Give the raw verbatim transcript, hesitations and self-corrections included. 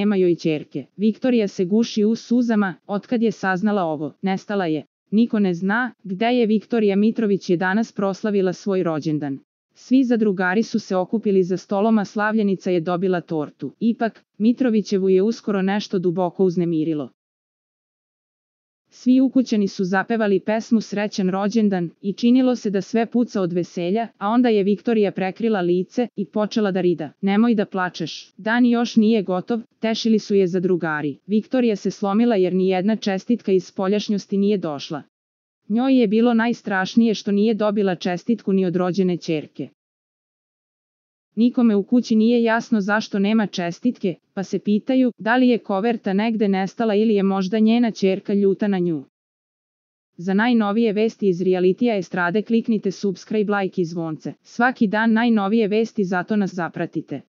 nema joj ćerke. Viktorija se guši u suzama, otkad je saznala ovo. Nestala je. Niko ne zna gde je. Viktorija Mitrović je danas proslavila svoj rođendan. Svi zadrugari su se okupili za stolom, a slavljenica je dobila tortu. Ipak, Mitrovićevu je uskoro nešto duboko uznemirilo. Svi ukućani su zapevali pesmu Srećan rođendan i činilo se da sve puca od veselja, a onda je Viktorija prekrila lice i počela da rida. Nemoj da plačeš, dan još nije gotov, tešili su je zadrugari. Viktorija se slomila jer ni jedna čestitka iz spoljašnjosti nije došla. Njoj je bilo najstrašnije što nije dobila čestitku ni od rođene ćerke. Nikome u kući nije jasno zašto nema čestitke, pa se pitaju da li je koverta negde nestala ili je možda njena ćerka ljuta na nju. Za najnovije vesti iz realitija estrade kliknite subscribe, like i zvonce. Svaki dan najnovije vesti, zato nas zapratite.